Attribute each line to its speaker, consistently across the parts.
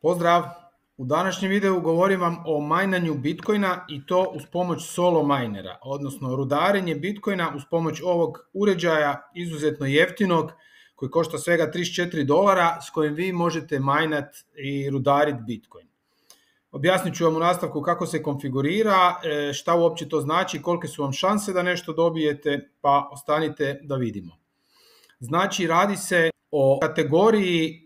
Speaker 1: Pozdrav! U današnjem videu govorim vam o majnanju Bitcoina i to uz pomoć solo minera, odnosno rudarenje Bitcoina uz pomoć ovog uređaja izuzetno jeftinog koji košta svega $34 s kojim vi možete majnat i rudarit Bitcoin. Objasnit ću vam u nastavku kako se konfigurira, šta uopće to znači, kolike su vam šanse da nešto dobijete, pa ostanite da vidimo. Znači, radi se o kategoriji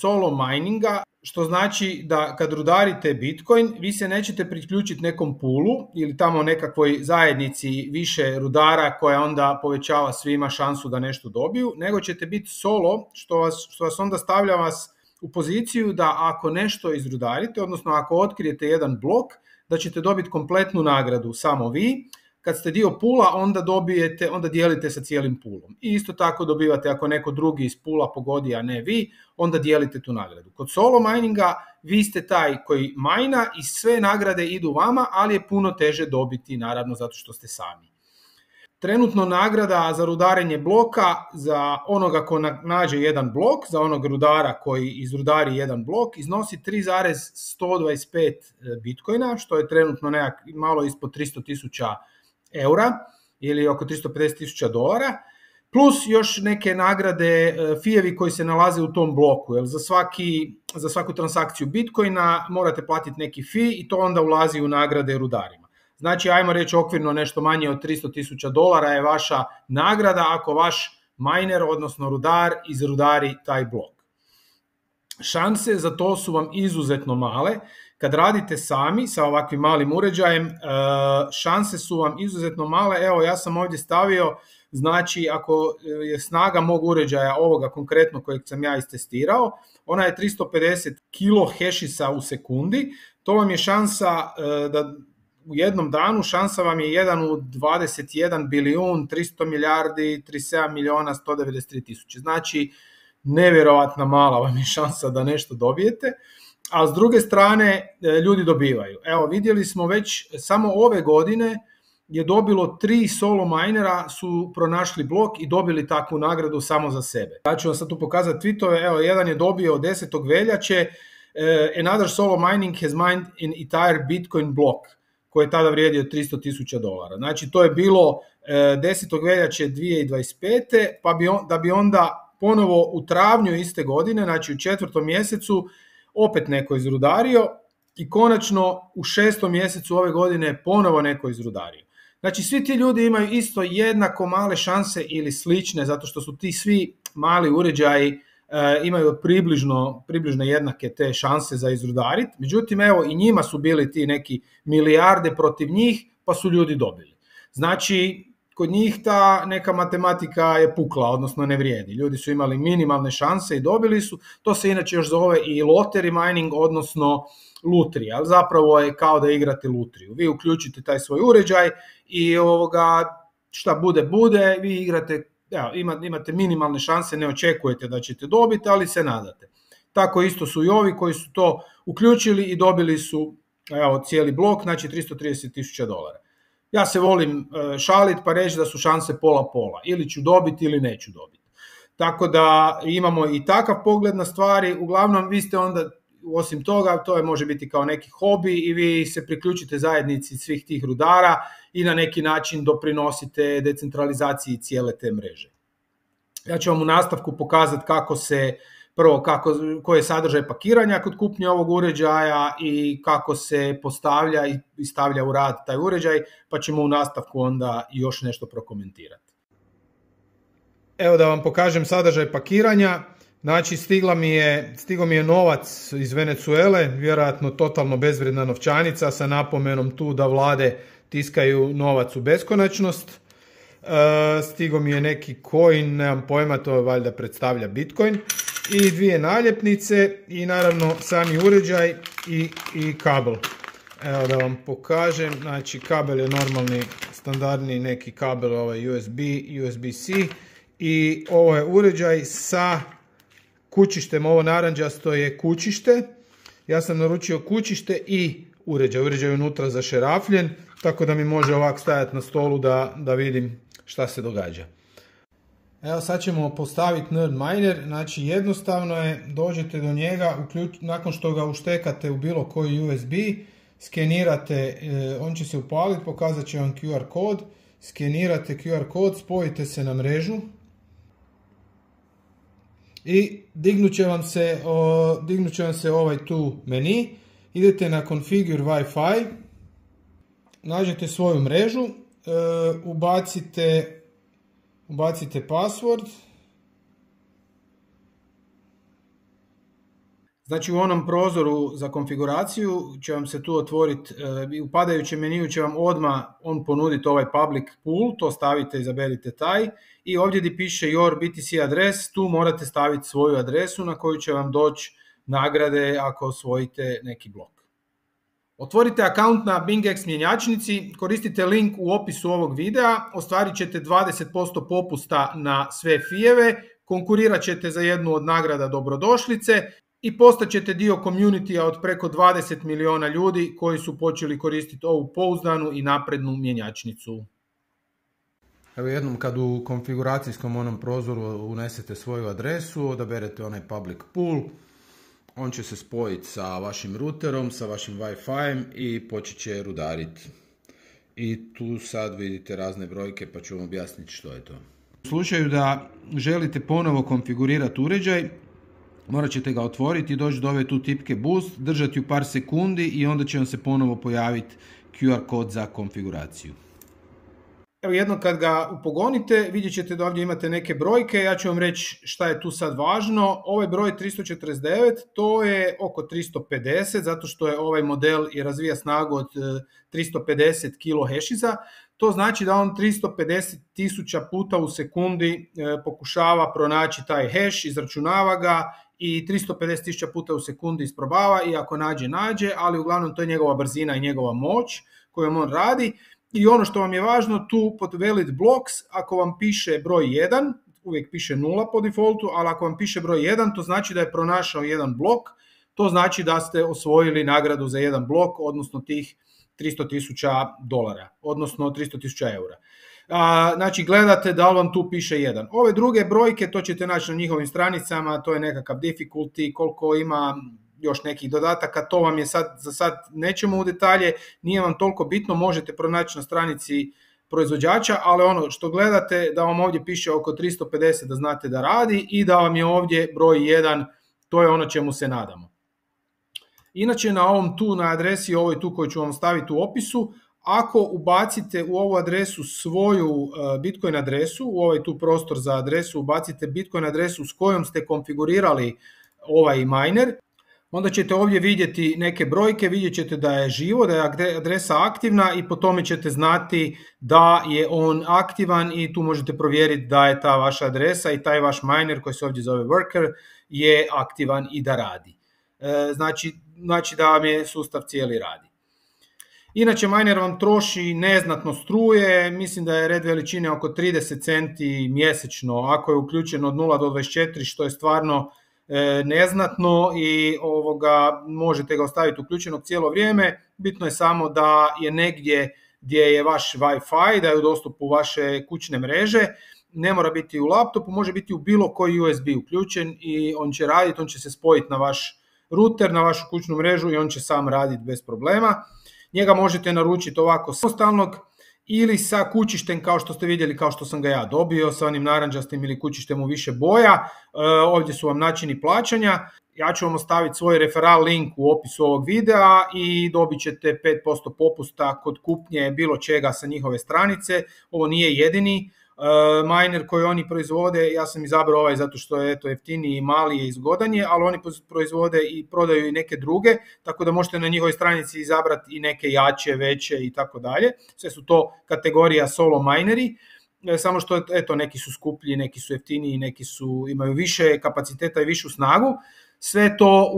Speaker 1: solo mininga, što znači da kad rudarite Bitcoin, vi se nećete priključiti nekom poolu ili tamo nekakvoj zajednici više rudara koja onda povećava svima šansu da nešto dobiju, nego ćete biti solo, što vas onda stavlja vas u poziciju da ako nešto izrudarite, odnosno ako otkrijete jedan blok, da ćete dobiti kompletnu nagradu samo vi. Kad ste dio poola, onda dijelite sa cijelim poolom. I isto tako dobivate ako neko drugi iz poola pogodi, a ne vi, onda dijelite tu nagradu. Kod solo mininga vi ste taj koji majna i sve nagrade idu vama, ali je puno teže dobiti, naravno, zato što ste sami. Trenutno nagrada za rudarenje bloka za onoga ko nađe jedan blok, za onog rudara koji izrudari jedan blok, iznosi 3,125 Bitcoina, što je trenutno malo ispod 300.000 eura ili oko $350.000, plus još neke nagrade, fijevi koji se nalaze u tom bloku. Jer za svaku transakciju Bitcoina morate platiti neki fee i to onda ulazi u nagrade rudarima. Znači, ajmo reći okvirno nešto manje od $300.000 je vaša nagrada ako vaš miner, odnosno rudar, izrudari taj blok. Šanse za to su vam izuzetno male. Kad radite sami sa ovakvim malim uređajem, šanse su vam izuzetno male. Evo, ja sam ovdje stavio, znači ako je snaga mog uređaja, ovoga konkretno kojeg sam ja istestirao, ona je 350 kilohešisa u sekundi. To vam je šansa da u jednom danu, šansa vam je 1 u 21 bilijun, 300 milijardi, 37 miliona, 193 tisuće. Znači, nevjerovatna mala vam je šansa da nešto dobijete. A s druge strane ljudi dobivaju. Evo, vidjeli smo već samo ove godine je dobilo 3 solo minera su pronašli blok i dobili takvu nagradu samo za sebe. Ja ću vam sad tu pokazati tweetove. Evo, jedan je dobio 10. veljače another solo mining has mined an entire Bitcoin block, koji je tada vrijedio $300.000. Znači, to je bilo 10. veljače 2025. Pa da bi onda ponovo u travnju iste godine, znači u 4. mjesecu, opet neko izrudario i konačno u 6. mjesecu ove godine ponovo neko izrudario. Znači, svi ti ljudi imaju isto jednako male šanse ili slične, zato što su ti svi mali uređaji imaju približno jednake te šanse za izrudarit. Međutim, evo, i njima su bili ti neki milijarde protiv njih, pa su ljudi dobili. Znači, kod njih ta neka matematika je pukla, odnosno ne vrijedi. Ljudi su imali minimalne šanse i dobili su. To se inače još zove i lottery mining, odnosno lutrija. Ali zapravo je kao da igrate lutriju. Vi uključite taj svoj uređaj i šta bude, vi igrate. Evo, imate minimalne šanse, ne očekujete da ćete dobiti, ali se nadate. Tako isto su i ovi koji su to uključili i dobili su cijeli blok, znači $330.000. Ja se volim šaliti pa reći da su šanse pola-pola. Ili ću dobiti ili neću dobiti. Tako da imamo i takav pogled na stvari. Uglavnom, vi ste onda, osim toga, to može biti kao neki hobi i vi se priključite zajednici svih tih rudara i na neki način doprinosite decentralizaciji cijele te mreže. Ja ću vam u nastavku pokazati koji je sadržaj pakiranja kod kupnje ovog uređaja i kako se postavlja i stavlja u rad taj uređaj, pa ćemo u nastavku onda još nešto prokomentirati. Evo da vam pokažem sadržaj pakiranja. Znači, stigao mi je novac iz Venezuele, vjerojatno totalno bezvrijedna novčanica sa napomenom tu da vlade tiskaju novac u beskonačnost. Stigao mi je neki coin, nemam pojma, to valjda predstavlja Bitcoin. I 2 naljepnice i naravno sami uređaj i kabel. Evo da vam pokažem, znači kabel je normalni, standardni neki kabel, USB-C i ovo je uređaj sa kućištem, ovo naranđasto je kućište. Ja sam naručio kućište i uređaj. Uređaj je unutra zašerafljen, tako da mi može ovak stajati na stolu da vidim šta se događa. Evo sad ćemo postaviti Nerd Miner, znači jednostavno je, dođete do njega, nakon što ga uštekate u bilo koji USB, skenirate, on će se upaliti, pokazat će vam QR kod, skenirate QR kod, spojite se na mrežu i dignut će vam se ovaj tu meni, idete na Configure Wi-Fi, nađete svoju mrežu, ubacite password. Znači u onom prozoru za konfiguraciju će vam se tu otvoriti, u padajućem meniju će vam odmah on ponuditi ovaj public pool, to stavite, izaberite taj i ovdje gdje piše your BTC adres, tu morate staviti svoju adresu na koju će vam doći nagrade ako osvojite neki blok. Otvorite akaunt na BingX mjenjačnici, koristite link u opisu ovog videa, ostvarit ćete 20% popusta na sve fijeve, konkurirat ćete za jednu od nagrada dobrodošlice i postaćete dio community-a od preko 20 miliona ljudi koji su počeli koristiti ovu pouzdanu i naprednu mjenjačnicu. Evo jednom kad u konfiguracijskom onom prozoru unesete svoju adresu, odaberete onaj public pool, on će se spojiti sa vašim routerom, sa vašim Wi-Fi i počet će rudariti. I tu sad vidite razne brojke pa ću vam objasniti što je to. U slučaju da želite ponovo konfigurirati uređaj, morat ćete ga otvoriti i doći do ove tu tipke boost, držati u par sekundi i onda će vam se ponovo pojaviti QR kod za konfiguraciju. Evo jednom kad ga upogonite, vidjet ćete da ovdje imate neke brojke, ja ću vam reći šta je tu sad važno. Ovaj broj 349, to je oko 350, zato što je ovaj model i razvija snagu od 350 kHz. To znači da on 350.000 puta u sekundi pokušava pronaći taj hash, izračunava ga i 350.000 puta u sekundi isprobava i ako nađe, ali uglavnom to je njegova brzina i njegova moć kojom on radi. I ono što vam je važno, tu pod valid blocks, ako vam piše broj 1, uvijek piše 0 po defaultu, ali ako vam piše broj 1, to znači da je pronašao jedan blok, to znači da ste osvojili nagradu za jedan blok, odnosno tih $300,000, odnosno 300.000 eura. Znači gledate da li vam tu piše 1. Ove druge brojke, to ćete naći na njihovim stranicama, to je nekakav difficulty, koliko ima još nekih dodataka, to vam je za sad nećemo u detalje, nije vam toliko bitno, možete pronaći na stranici proizvođača, ali ono što gledate da vam ovdje piše oko 350 da znate da radi i da vam je ovdje broj 1, to je ono čemu se nadamo. Inače na ovom tu, na adresi ovoj tu koju ću vam staviti u opisu, ako ubacite u ovu adresu svoju Bitcoin adresu, u ovaj tu prostor za adresu ubacite Bitcoin adresu s kojom ste konfigurirali ovaj miner, onda ćete ovdje vidjeti neke brojke, vidjet ćete da je živo, da je adresa aktivna i po tome ćete znati da je on aktivan i tu možete provjeriti da je ta vaša adresa i taj vaš miner koji se ovdje zove worker je aktivan i da radi. Znači da vam je sustav cijeli radi. Inače miner vam troši neznatno struje, mislim da je red veličine oko 30 centi mjesečno ako je uključeno od 0 do 24 što je stvarno neznatno i možete ga ostaviti uključenog cijelo vrijeme. Bitno je samo da je negdje gdje je vaš Wi-Fi, da je u dostupu vaše kućne mreže. Ne mora biti u laptopu, može biti u bilo koji USB uključen i on će raditi, on će se spojiti na vaš router, na vašu kućnu mrežu i on će sam raditi bez problema. Njega možete naručiti ovako samostalnog ili sa kućištem kao što ste vidjeli, kao što sam ga ja dobio, sa onim naranđastim ili kućištem u više boja. Ovdje su vam načini plaćanja. Ja ću vam ostaviti svoj referral link u opisu ovog videa i dobit ćete 5% popusta kod kupnje bilo čega sa njihove stranice. Ovo nije jedini miner koji oni proizvode, ja sam izabrao ovaj zato što je jeftiniji i mali je i zgodan je, ali oni proizvode i prodaju i neke druge, tako da možete na njihovoj stranici izabrati i neke jače, veće i tako dalje. Sve su to kategorija solo mineri, samo što neki su skuplji, neki su jeftiniji, neki imaju više kapaciteta i višu snagu. Sve to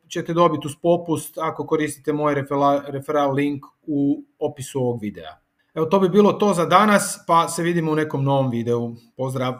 Speaker 1: ćete dobiti uz popust ako koristite moj referral link u opisu ovog videa. Evo to bi bilo to za danas, pa se vidimo u nekom novom videu. Pozdrav!